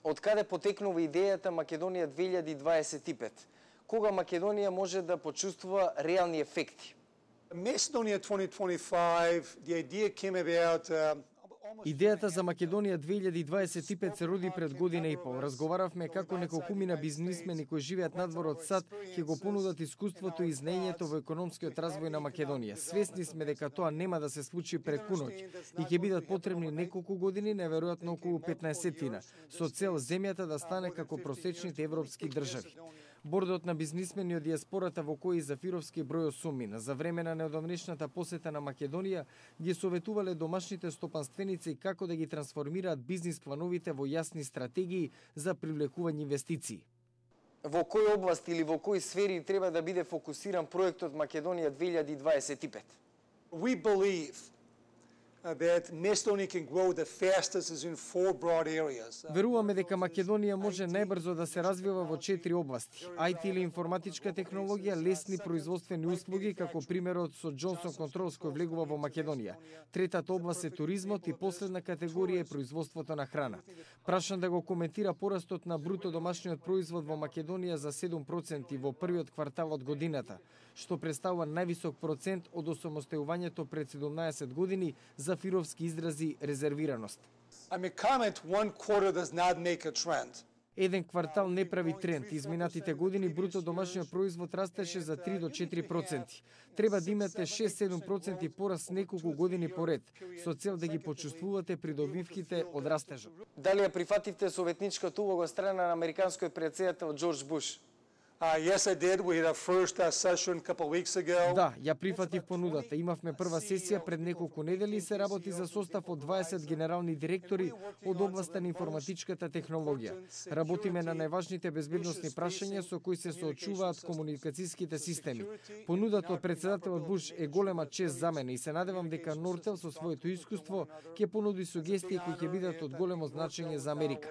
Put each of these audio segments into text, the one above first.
Од каде потекнува идејата Македонија 2025? Кога Македонија може да почувствува реални ефекти? Macedonia 2025, the idea came about Идејата за Македонија 2025 се роди пред година и пол. Разговаравме како неколкумина бизнисмени кои живеат надвор од САД ќе го понудат искуството и знаењето во економскиот развој на Македонија. Свесни сме дека тоа нема да се случи преку ноќ и ќе бидат потребни неколку години, неверојатно околу 15-тина, со цел земјата да стане како просечните европски држави. Бордот на бизнисмени од диаспората во кој Зафировски број осумина за време на неодамнешната посета на Македонија ги советувале домашните стопанственици како да ги трансформираат бизнис плановите во јасни стратегии за привлекување инвестиции. Во кој област или во кои сфери треба да биде фокусиран проектот Македонија 2025? we believe that Macedonia can grow the fastest is in 4 broad areas. Веруваме дека Македонија може најбрзо да се развива во 4 области: IT или информатичка технологија, лесни производствени услуги, како примерот со Johnson Controls кој влегува во Македонија. Третата област е туризмот и последна категорија е производството на храна. Прашан да го коментира порастот на бруто домашниот производ во Македонија за 7% во првиот квартал од годината, што представува највисок процент од осамостојувањето пред 17 години. Зафировски изрази резервираност. I mean, comment, one quarter does not make a trend. Еден квартал не прави тренд. Изминатите години бруто домашниот производ растеше за 3 до 4%. Треба да имате 6-7% пораст неколку години поред, со цел да ги почувствувате придобивките од растежот. Дали ја прифативте советничката улога од страна на американскиот претседател Џорџ Буш? Yes, I did. We had our first session a couple weeks ago. Да, ја прифатив понудата. Имавме прва сесија пред неколку недели и се работи за состав од 20 генерални директори од областа на информатичката технологија. Работиме на најважните безбедносни прашања со кои се соочуваат комуникацијските системи. Понудата од претседателот Буш е голема чест за мене и се надевам дека Нортел со своето искуство ќе понуди сугестии кои ќе бидат од големо значење за Америка.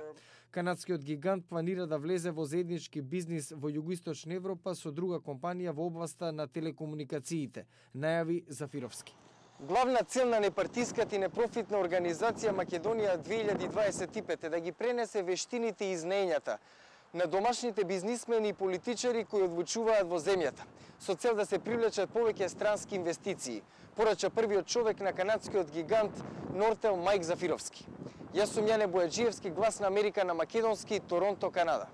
Канадскиот гигант планира да влезе во заеднички бизнис во југоисточна Европа со друга компанија во областа на телекомуникациите, најави Зафировски. Главна цел на непартиската и непрофитна организација Македонија 2025 е да ги пренесе вештините и знаењата на домашните бизнисмени и политичари кои одлучуваат во земјата, со цел да се привлечат повеќе странски инвестиции, порача првиот човек на канадскиот гигант Нортел Мајк Зафировски. Јас сум Јане Бојаджиевски, глас на Америка на македонски, Торонто, Канада.